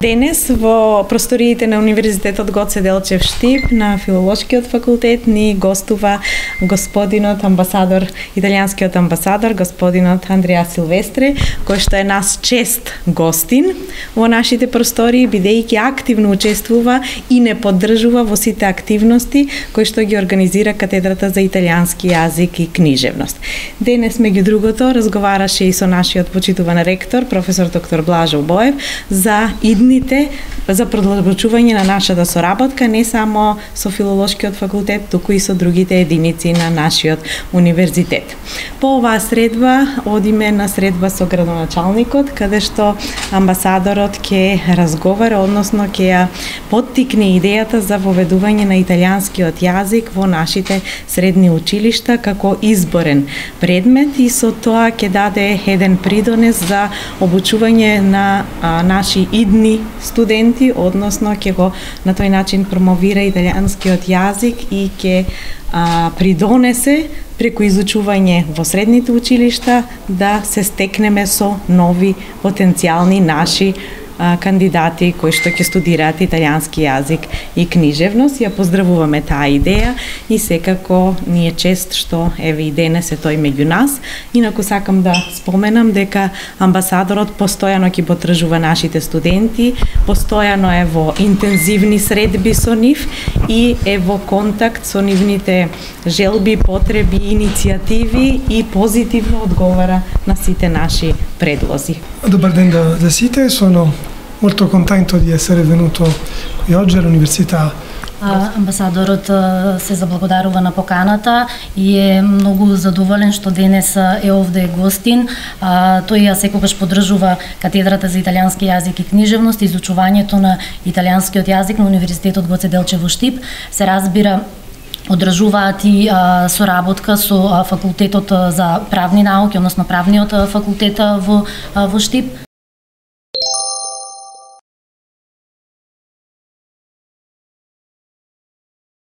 Денес во просториите на Универзитетот Гоце Делчев Штип на Филолошкиот факултет ни гостува господинот амбасадор, италијанскиот амбасадор, господинот Андреа Силвестре, кој што е нас чест гостин во нашите простории, бидејќи активно учествува и не поддржува во сите активности кои што ги организира Катедрата за италијански јазик и книжевност. Денес, меѓу другото, разговараше и со нашиот почитуван ректор, професор доктор Блажо Боев, за за продолжување на нашата соработка не само со Филолошкиот факултет, туку и со другите единици на нашиот универзитет. По оваа средба одиме на средба со градоначалникот, каде што амбасадорот ќе разговара, односно ќе ја поттикне идејата за воведување на италијанскиот јазик во нашите средни училишта како изборен предмет и со тоа ќе даде еден придонес за обучување на наши идни студенти, односно ќе го на тој начин промовира италијанскиот јазик и ќе придонесе преку изучување во средните училишта да се стекнеме со нови потенцијални наши кандидати кои што ќе студираат италијански јазик и книжевност. Ја поздравуваме таа идеја и секако ни е чест што еве и денес е тој меѓу нас. Инаку сакам да споменам дека амбасадорот постојано ќе потржува нашите студенти, постојано е во интензивни средби со нив и е во контакт со нивните желби, потреби, иницијативи и позитивно одговара на сите наши предлози. Добар ден da site, sono molto contento di essere venuto qui oggi all'università. Амбасадорот се заблагодарува на поканата и е многу задоволен што денес е овде гостин. Тој ја секогаш поддржува Катедрата за италијански јазик и книжевност, изучувањето на италијанскиот јазик на Универзитетот Гоце Делчев во Штип. Се разбира, одржуваат и соработка со факултетот за правни науки, односно правниот факултет во Штип.